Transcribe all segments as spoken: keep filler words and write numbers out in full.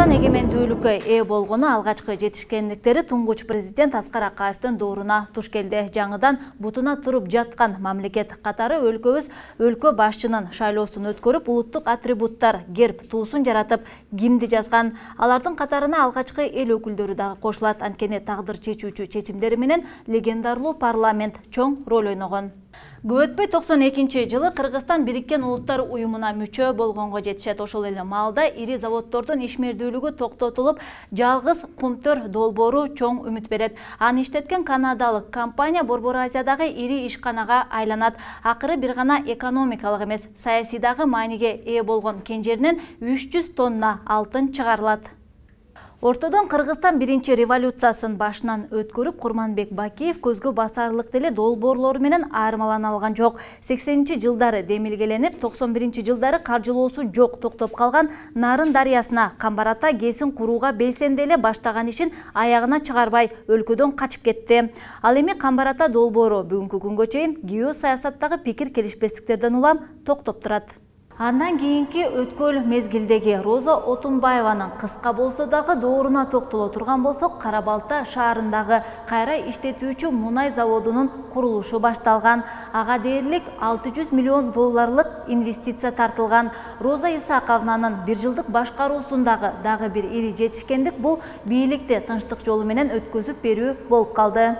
Кыргызстан эгемендүүлүккө ээ болгону алгачкы жетишкендиктери туңгуч президент Аскар Акаевдин дооруна туш келди. Жаңыдан бутуна туруп жаткан мамлекет катары өлкөбүз өлкө башчынын шайлоосун өткөрүп, улуттук атрибуттар, герб, туусун жаратып, гимди жазган. Алардын катарына алгачкы эл өкүлдөрү дагы кошулат. Анткени тагдыр чечүүчү чечимдери менен легендарлуу парламент чоң роль ойногон. Көп өтпөй токсон экинчи жылы Кыргызстан Бириккен Улуттар уюмуна мүчө болгонго жетишет. Ошол эле маалда ири заводдордун ишмердүүлүгү токтотулуп, жалгыз Кумтөр долбоору чоң үмүт берет. Аны иштеткен канадалык компания Борбор Азиядагы ири ишканага айланат. Акыры бир гана экономикалык эмес, саясийдагы мааниге ээ болгон кенжеринен үч жүз тонна алтын чыгарылат. Ортодон Кыргызстан биринчи революциясын башынан өткөрүп, Курманбек Бакиев көзгө басарлык деле долбоорлору менен айырмалана алган жок. сексенинчи жылдары демилгеленип, токсон биринчи жылдары каржылоосу жок токтоп калган Нарын дарыясына Камбар-Ата ГЭСин курууга белсенди эле баштаган ишин аягына чыгарбай өлкөдөн качып кетти. Ал эми Камбар-Ата долбоору бүгүнкү күнгө чейин геосаясаттагы пикир келишпестиктерден улам токтоп турат. Андан кийинки өткөл мезгилдеги Роза Отунбаеванын кыска болсо дагы дооруна токтоло турган болсок, Кара-Балта шаарындагы кайра иштетүүчү мунай заводунун курулушу башталган. Ага дээрлик алты жүз миллион долларлык инвестиция тартылган. Роза Исаковнанын бир жылдык башкаруусундагы дагы бир ири жетишкендик бул бийликти тынчтык жолу менен өткөзүп берүү болуп калды.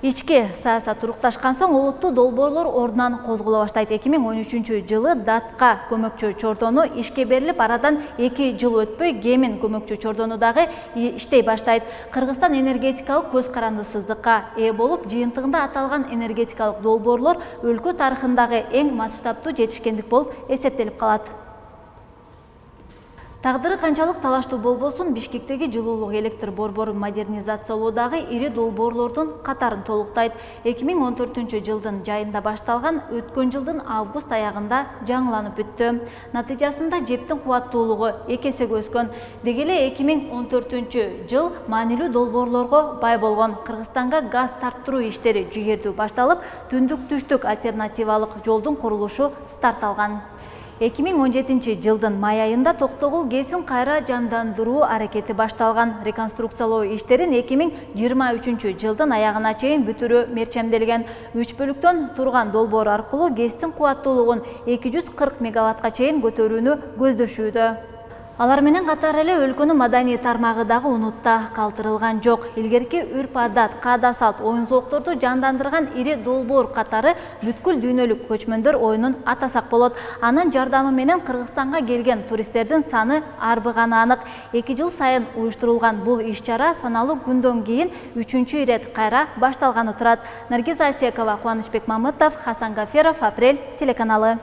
Ички саясат турукташкан соң улуттуу долбоорлор ордунан козголо баштайт. эки миң он үчүнчү жылы датка көмөкчү чордону ишке берилип, арадан эки жыл өтпөй Гемин көмөкчү чордону дагы иштей баштайт. Кыргызстан энергетикалык көз карандысыздыкка ээ болуп, жыйынтыгында аталган энергетикалык долбоорлор өлкө тарыхындагы эң масштабтуу жетишкендик болуп эсептелип калат. Тагдыры канчалык талаштуу болбосун, Бишкектеги жылуулук электр борборун модернизациялоодагы ири долбоорлордун катарын толуктайт. эки миң он төртүнчү жылдын жайында башталган, өткөн жылдын август аягында жаңыланып бүттү. Натыйжасында жептин кубаттуулугу эки эсеге өскөн. Деги эле эки миң он төртүнчү жыл маанилүү долбоорлорго бай болгон. Кыргызстанга газ тарттыруу иштери жүйердүү башталып, түндүк-түштүк альтернативалык жолдун курулушу старт алган. эки миң он жетинчи жылдын май айында Токтогул ГЭСин кайра жандандыруу аракети башталган. Реконструкциялоо иштерин эки миң жыйырма үчүнчү жылдын аягына чейин бүтүрүү мерчемделген. үч бөлүктөн турган долбоор аркылуу ГЭСтин кубаттуулугун эки жүз кырк мегаваттка чейин көтөрүүнү көздөшүүдө. Алар менен катар эле өлкөнүн маданий тармагы дагы унутта калтырылган жок. Илгерки үрп-адат, каада-салт, оюн-зоокторду жандандырган ири долбоор катары бүткүл дүйнөлүк көчмөндөр оюнун атасак болот. Анын жардамы менен Кыргызстанга келген туристтердин саны арбыганы анык. эки жыл сайын уюштурулган бул иш-чара саналуу күндөн кийин үчүнчү ирет кайра башталганы турат. Наргиз Асекова, Кубанычбек Мамытов, Хасан Гаферов, Апрель телеканалы.